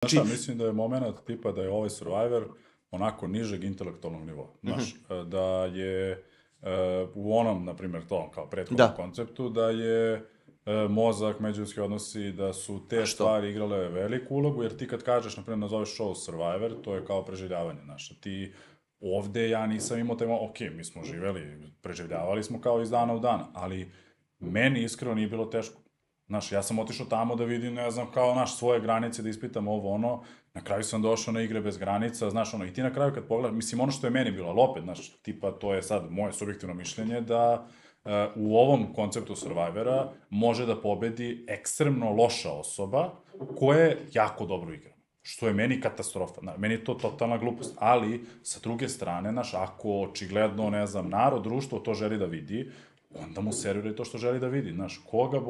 Znaš šta, mislim da je moment tipa da je ovaj Survivor onako nižeg intelektualnog nivoa. Znaš, da je u onom, na primjer, tom kao prethodnom konceptu, da je mozak, međuljudski odnosi, da su te stvari igrale veliku ulogu, jer ti kad kažeš, na primjer, nazoveš show Survivor, to je kao preživljavanje, znaš, ti ovde ja nisam imao taj moment, ok, mi smo živeli, preživljavali smo kao iz dana u dan, ali meni iskreno nije bilo teško. Znaš, ja sam otišao tamo da vidim, ne znam, kao, znaš, svoje granice, da ispitam ovo, ono, na kraju sam došao na Igre bez granica, znaš, ono, i ti na kraju kad pogledaš, mislim, ono što je meni bilo, ali opet, znaš, tipa, to je sad moje subjektivno mišljenje, da u ovom konceptu Survivora može da pobedi ekstremno loša osoba koja je jako dobro igra. Što je meni katastrofa. Meni je to totalna glupost. Ali, sa druge strane, znaš, ako očigledno, ne znam, narod, društvo to želi da vidi, onda mu serviraj to što želi da vidi. Znaš, koga